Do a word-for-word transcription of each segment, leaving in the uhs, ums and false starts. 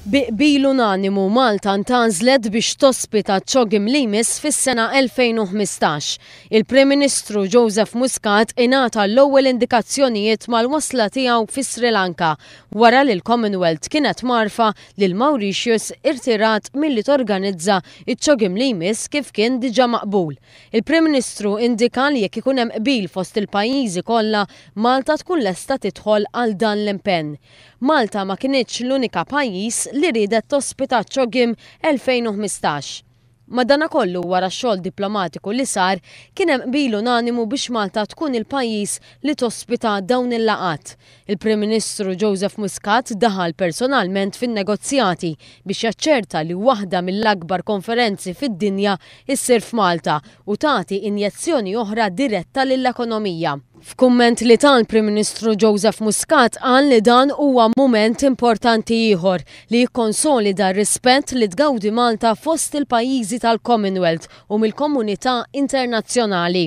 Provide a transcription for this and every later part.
Bi qbil unanimu, Malta ntgħażlet biex tospita CHOGM li jmiss fis-sena elfejn u ħmistax. Il-Prim Ministru Joseph Muscat ingħata l-ewwel indikazzjonijiet mal-wasla tiegħu fi Sri Lanka wara li l-Commonwealth kienet mgħarrfa li l-Mauritius irtirat milli torganizza iċ-CHOGM li jmiss kif kien diġà maqbul. Il-Prim Ministru indika li jekk ikun hemm qbil fost il-pajjiżi kollha, Malta tkun lesta tidħol għal dan l-impenn. Malta ma kinitx l-unika pajjiż li riedet tospita CHOGM elfejn u ħmistax. Madanakollu, wara xogħol diplomatiku li sar, kien hemm qbil unanimu biex Malta tkun il-pajjiż li tospita dawn il-laqgħat. Il-Prim Ministru Joseph Muscat daħal personalment fin-negozjati biex jaċċerta li waħda mill-akbar konferenzi fid-dinja issir f'Malta u tagħti injezzjoni oħra diretta lill-ekonomija. F'kumment li ta l-Prim Ministru Joseph Muscat qal li dan huwa mument importanti ieħor li jikkonsolida r-rispett li tgawdi Malta fost il-pajjiżi tal-Commonwealth u mill-komunità internazzjonali.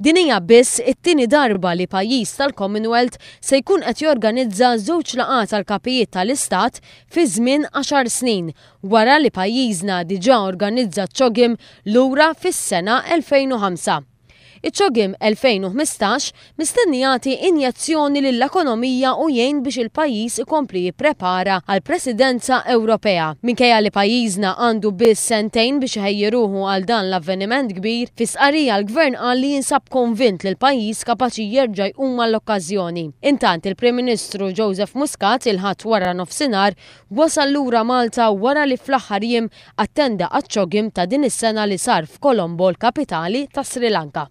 Din hija biss it-tieni darba li pajjiż tal-Commonwealth se jkun qed jorganizza żewġ laqgħat tal-kapijiet tal-Istat fi żmien għaxar snin, wara li pajjiżna diġà organizza CHOGM lura fis-sena elfejn u ħamsa. Iċ-CHOGM elfejn u ħmistax mistenni jagħti injezzjoni lill-ekonomija u jgħin biex il-pajjiż ikompli jipprepara għal Presidenza Ewropea. Minkejja li pajjiżna għandu biss sentejn biex iħejji ruħu għal dan l-avveniment kbir, fi stqarrija l-Gvern qal li jinsab konvint li l-pajjiż kapaċi jerġa' jqum għall-okkażjoni. Intant, il-Prim Ministru Joseph Muscat il-Ħadd wara nofsinhar wasal lura Malta wara li fl-aħħar jiem attenda għaċ-CHOGM ta' din is-sena li sar f'Kolombo, l-kapitali ta' Sri Lanka.